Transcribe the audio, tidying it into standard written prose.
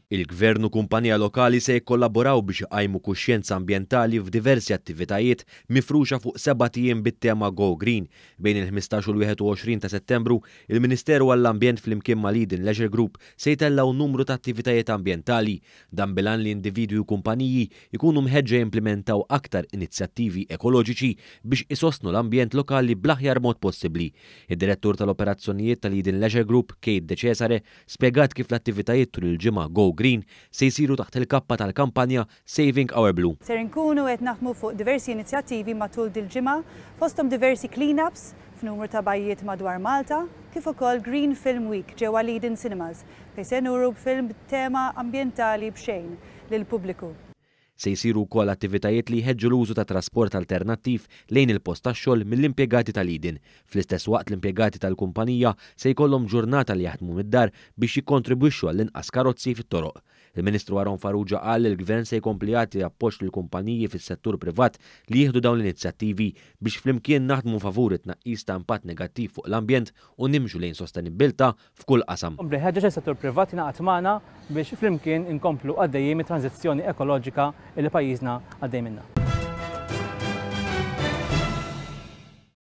Il-Gvern u kumpanija lokali se jikkollaboraw biex iqajmu kuxjenza ambjentali f'diversi attivitajiet mifruxa fuq sebat ijiem bit-tema Go Green. Bejn il-15 u l-21 ta' Settembru, il-Ministeru għall-Ambjent flimkien mal-Eden Leisure Group se jtellgħu numru ta' attivitajiet ambjentali. Dan bil-għan li individwi u kumpaniji jkunu mħeġġa jimplimentaw aktar inizjattivi ekoloġiċi biex isostnu l-ambjent lokali bl-aħjar mod possibbli. Id-Direttur tal-Operazzjonijiet tal-Eden Leisure Group, Kate De Cesare, spjegat kif l-attivitajiet tul il-ġimgħa Go Green se jsiru taħt il-kappa tal-kampanja Saving Our Blue. Ser inkunu qed naħdmu fuq diversi inizjattivi matul dil-ġimgħa, fosthom diversi clean-ups f'numru ta' bajjiet madwar Malta, kif ukoll Green Film Week ġewwa l-Eden Cinemas fejn se nuru film b'tema ambjentali b'xejn lill-pubbliku. Se jsiru wkoll attivitajiet li jħeġġu l-użu ta' trasport alternattiv lejn il-post tax-xogħol mill-impjegati tal-Eden. Fl-istess waqt l-impjegati tal-kumpanija se jkollhom ġurnata li jaħdmu mid-dar biex jikkontribwixxu għall-inqas karozzi fit-toroq. Il-Ministru Aaron Farrugia qal li l-Gvern se jkompli jagħti appoġġ lill-kumpaniji fis-settur privat li jieħdu dawn l-inizjattivi biex flimkien naħdmu favur it-tnaqqis ta' impatt negattiv fuq l-ambjent u nimxu lejn sostenibbiltà f'kull qasam. Nkompli nħeġġeġ lis-settur privat jingħaqad magħna biex flimkien inkomplu għaddejjin mit-tranżizzjoni ekoloġika li pajjiżna għaddej minnha.